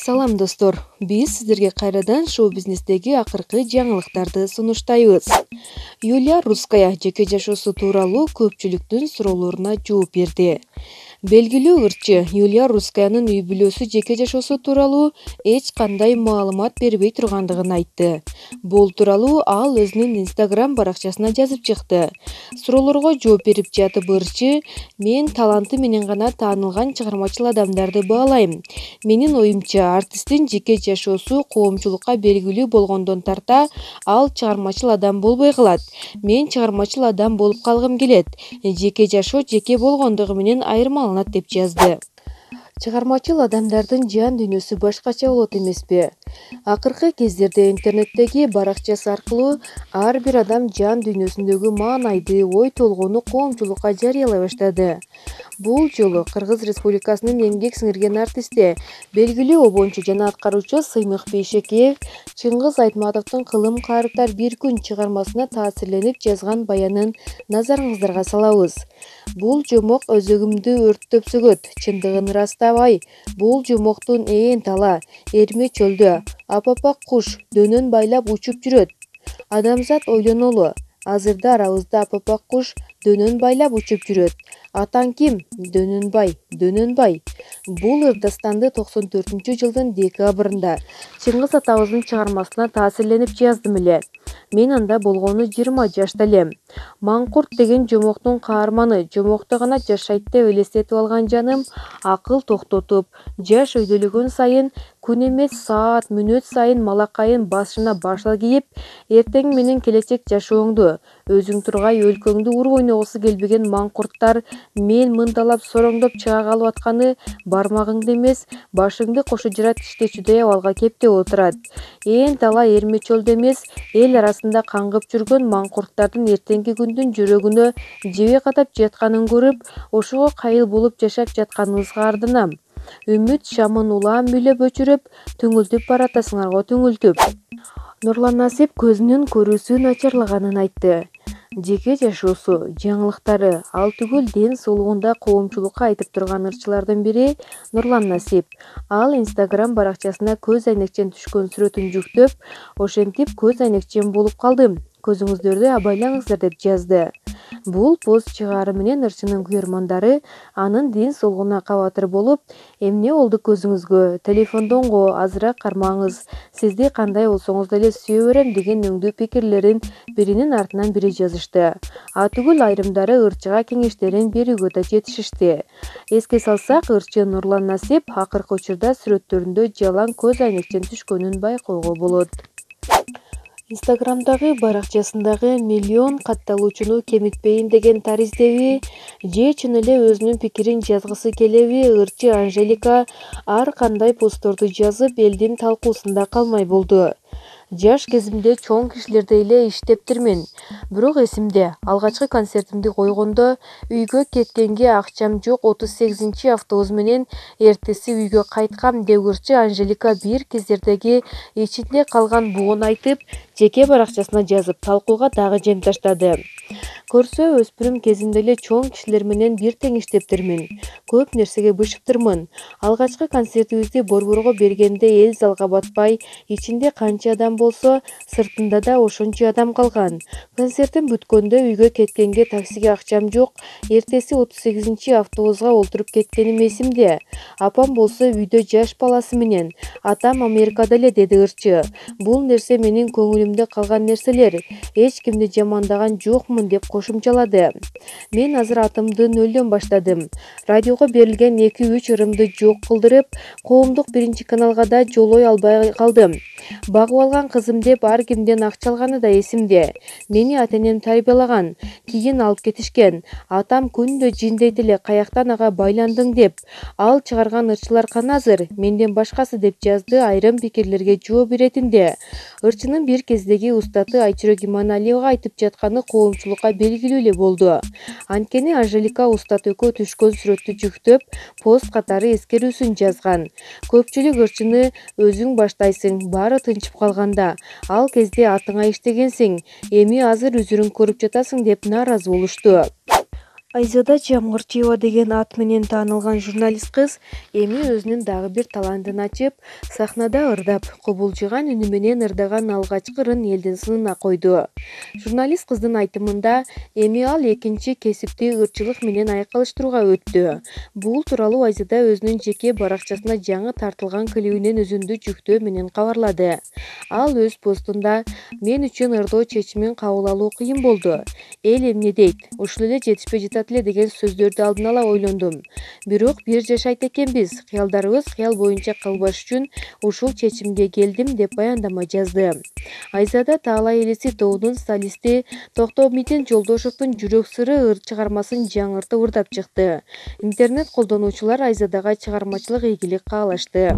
Салам достор, биз сиздерге кайрадан шоу-бизнестеги акыркы жаңылыктарды сунуштайбыз. Юлия Русская жеке жашоосу тууралуу көпчүлүктүн суроолоруна жооп берди. Белгилүү ырчы Юлия Русскаянын үй-бүлөсү жеке жашоосу тууралуу эч кандай маалымат бербей тургандыгын айтты. Бул тууралуу ал өзүнүн Instagram баракчасына жазып чыкты. Суроолорго жооп берип жатып ырчы: "Мен таланты менен гана таанылган чыгармачыл адамдарды баалайм. Менин оюмча, артисттин жеке жашоосу коомчулукка белгилүү болгондон тарта ал чыгармачыл адам болбой калат. Мен чыгармачыл адам болуп калгым келет. Жеке жашоо жеке болгондугу менен айырмаланат", деп жазды. Чыгармачыл адамдардын жан дүйнөсү башкача болот эмеспи? Акыркы кездерде интернеттеги баракчасы аркылуу ар бир адам жан дүйнөсүндөгү маанайды, ой толгоону коомчулукка жарыялай баштады. Бул жолу Кыргыз Республикасынын эмгек сиңирген артисти, белгилүү обончу жана аткаруучу Сыймык Бейшекеев Чыңгыз Айтматовдун "Кылым каарыптар бир күн" чыгармасына таасирленип жазган баянын назарыңыздарга салабыз. "Бул жомок өзөгүмдү өрттөп сөгөт, чындыгын ырастабай. Бул жомоктун ээн тала, эрме чөлдө, апапак куш дөнөн байлап учуп жүрөт. Адамзат ойлонолу, азырда арабызда апапак куш дөнөн байлап учуп жүрөт. Атаң ким? Дөнөнбай, Дөнөнбай". Бул ыр дастанды 94-жылдын декабрында Чыңгыз атабыздын чыгармасына таасирленип жаздым эле. Мен анда болгону 20 жашта элем. Маңкурт деген жомоктун каарманы, жомокто гана жашайт деп элестетип алган жаным акыл токтотуп, жаш өйдөлөгөн сайын, күн эмес саат, мүнөт сайын малакайын башына башыл кийип, эртең менен келечек жашооңду, өзүң тургай өлкөңдү уруп ойногусу келбеген маңкурттар мен мындалап сороңдоп чыга калып атканы бармагыңды эмес, башыңды кошо жара тиштечүдөй абалга кептеп отурат. Ээн тала эрме чөлдө эмес, эл арасында каңгып жүргөн маңкурттардын эртеңки күндүн жөрөгүнө жебе катап жатканын көрүп, ошого кайыл болуп жашап жатканыңызга арданам. Үмүт шамын улам үйлөп өчүрүп, түңүлтүп баратасыңарго түңүлтүп. Нурлан Насип көзүнүн көрүүсү начарлаганын айтты. Жеке жашоосу, жаңылыктары, ал түгүл ден соолугунда коомчулукка айтып турган ырчылардын бири Нурлан Насип. Ал Instagram баракчасына көз айнекчен түшкөн сүрөтүн жүктөп, ошентип көз айнекчен болуп калдым. Көзүңүздөрдү абайлаңыздар, деп жазды. Бул пост чыгаары менен ырчынын күйөрмандары анын ден соолугуна кабатыр болуп: "Эмне болду көзүңүзгө? Телефондон го, азыраак кармаңыз. Сизди кандай болсоңуз деле сүйө берем" деген өңдүү пикирлерин биринин артынан бири жазышты. А түгүл айрымдары ырчыга кеңештерин берүүгө да жетишишти. Эске салсак, ырчы Нурлан Насип акыркы учурда сүрөттөрүндө жалаң көз айнекчен түшкөнүн байкоого болот. Инстаграмдагы баракчасындагы "Миллион катталуучуну кемитпейин" деген тариздеби, же чын эле өзүнүн пикирин жазгысы келеби, ырчы Анжелика ар кандай постторду жазып, элдин талкуусунда калмай болду. "Жаш кезимде чоң кишилердей эле иштептирмин. Бирок эсимде, алгачкы концертимди койгондо үйгө кеткенге акчам жок, 38-автобус менен эртеси үйгө кайткам", деп ырчы Анжелика бир кездердеги ичинде калган бугун айтып, жеке баракчасына жазып, талкууга дагы жем таштады. "Көрсө, өспүрүм кезимде эле чоң кишилер менен бир тең иштептирмин. Көп нерсеге бышыптырмын. Алгачкы концертибизди борборго бергенде эл залга батпай, ичинде канча адам болсо, сыртында да ошончо адам калган. Концертим бүткөндө үйгө кеткенге таксиге акчам жок, эртеси 38-автобуска олтуруп кеткеним эсимде. Апам болсо үйдө жаш баласы менен, атам Америкада эле", деди ырчы. "Бул нерсе менин көңүлүмдө калган нерселер. Эч кимди жамандаган жокмун", деп кошумчалады. "Мен азыр атымды нөлдөн баштадым. Радиого берилген 2-3 ырымды жок кылдырып, коомдук биринчи каналга да жолой албай калдым. Багып алган кызым деп ар кимден акча алганы да эсимде. Мени ата-энем тарбиялаган, кийин алып кетишкен. Атам күндө жиндейт эле, каяктан ага байландың деп. Ал чыгарган ырчылар кана азыр, менден башкасы", деп жазды айрым пикирлерге жооп беретинде. Ырчынын бир кездеги устаты Айчүрөк Иманалиева айтып жатканы коомчулукка белгилүү эле болду. Анткени Анжелика устат экөө түшкөн сүрөттү жүктөп, пост катары эскерүүсүн жазган. Көпчүлүк ырчыны "Өзүң баштайсың, баары тынчып калганда. Ал кезде атыңа иштегенсиң, эми азыр үзүрүң көрүп жатасың" деп нааразы болушту. Айзада Жамгырчиева деген ат менен таанылган журналист кыз эми өзүнүн дагы бир талантын ачып, сахнада ырдап, кубулжуган үнү менен ырдаган алгачкы ырын элдин сынына койду. Журналист кыздын айтымында, эми ал экинчи кесипти ырчылык менен айкалыштырууга өттү. Бул тууралуу Айзада өзүнүн жеке баракчасына жаңы тартылган клибинин үзүндү жүктөө менен кабарлады. Ал өз постунда: "Мен үчүн ырдоо чечимин кабыл алуу кыйын болду. Эл эмне дейт? Ушул эле жетишпей жатат эле" деген сөздөрдү алдын ала ойлондум. Бирок бир жашайт экенбиз, кыялдарыбыз кыял боюнча калбаш үчүн ушул чечимге келдим, деп баяндама жазды. Айзада Таалай элиси тобунун солисти Токтомитин Жолдошовдун Жүрөк сыры чыгармасын жаңыртып ырдап чыкты. Интернет колдонуучулар Айзадага чыгармачылык ийгилик каалашты.